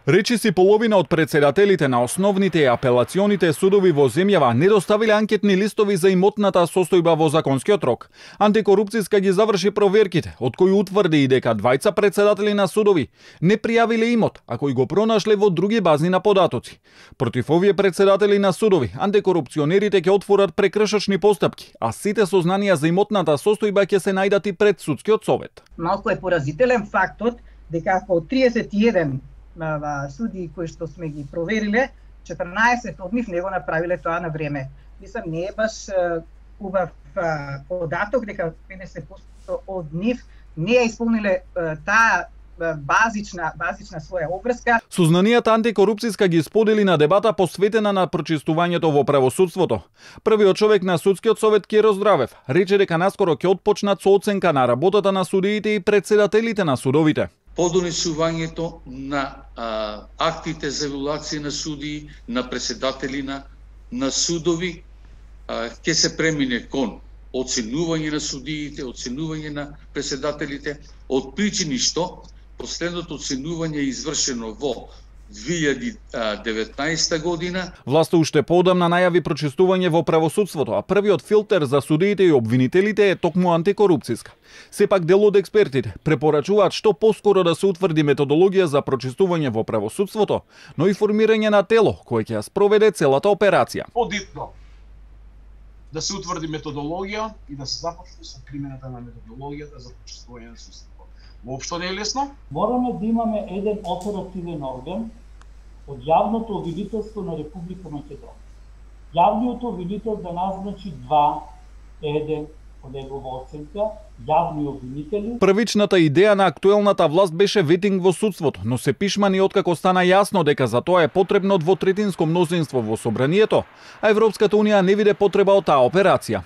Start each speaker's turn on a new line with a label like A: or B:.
A: Речиси половина од председателите на основните и апелационите судови во земјава не доставиле анкетни листови за имотната состојба во законскиот рок. Антикорупцијска ги заврши проверките, од кои утврди и дека двајца председатели на судови не пријавиле имот, а кои го пронашле во други базни на податоци. Против овие председатели на судови, антикорупционерите ќе отворат прекршачни постапки, а сите сознанија за имотната состојба ќе се најдат и пред судскиот совет.
B: Малку е поразителен фактот дека од 31 суди кои што сме ги провериле, 14 од нив не го направиле тоа на време. Мислам, не е баш убав податок дека 50% од нив не ја исполниле таа базична своја обврска.
A: Сознанијата антикорупцијска ги сподели на дебата посветена на прочистувањето во правосудството. Првиот човек на судскиот совет Киро Здравев рече дека наскоро ќе отпочнат со оценка на работата на судиите и председателите на судовите.
C: Подонесувањето на актите за евалуација на судии, на председатели на судови, ќе се премине кон оценување на судиите, оценување на председателите, од причини што последното оценување е извршено во 2019 година.
A: Власта уште поодамна најави прочистување во правосудството, а првиот филтер за судиите и обвинителите е токму антикорупцијска. Сепак дел од експертите препорачуваат што поскоро да се утврди методологија за прочистување во правосудството, но и формирање на тело кое ќе ја спроведе целата операција.
D: Подитно да се утврди методологија и да се започне со примената на методологијата за прочистување на судството. Воопшто не е лесно.
E: Мораме да имаме еден оперативен орган од јавното обвинителство на Република Македонија. Јавниот обвинител да назначи еден по негова оценка, јавни обвинители.
A: Првичната идеја на актуелната власт беше ветинг во судството, но се пишмани откако стана јасно дека за тоа е потребно двотретинско мнозинство во собранието, а Европската унија не виде потреба од таа операција.